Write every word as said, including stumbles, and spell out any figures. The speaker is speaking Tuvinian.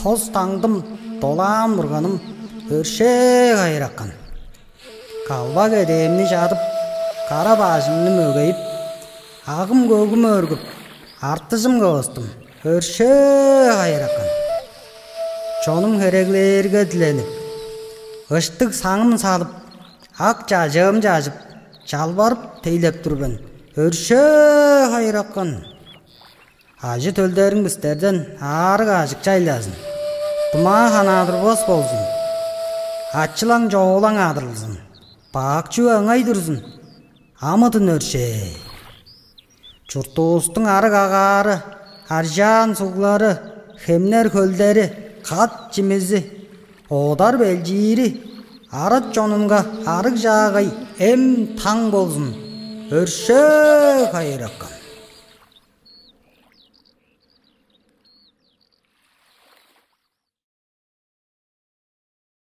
Хос-таңдым, долаан бурганым, өршээ хайыракан. Калбак эдээмни чадып, кара бажымны мөгейип, агым-көгүм өргүп, артыжым кывыстым, өршээ хайыракан. Чонум хереглээрге диленип, ыштыг саңым салып, ак чажыым чажып, чалбарып тейлеп тур мен, өршээ хайыракан. Ажы-төлдериң бистерден аарыг-аажок чайлазын. Тумаа ханаа турбас болзун. Ачылаң-чоолаң адырылзын. Бак чүве ыңай турзун. Амыдын өршээ. Чуртувустуң арыг агаары, аржаан суглары, хемнер хөлдери, кат чимизи, одар белчиири, арат чонунга арыг чаагай эм-таң болзун. Өршээ хайыракан.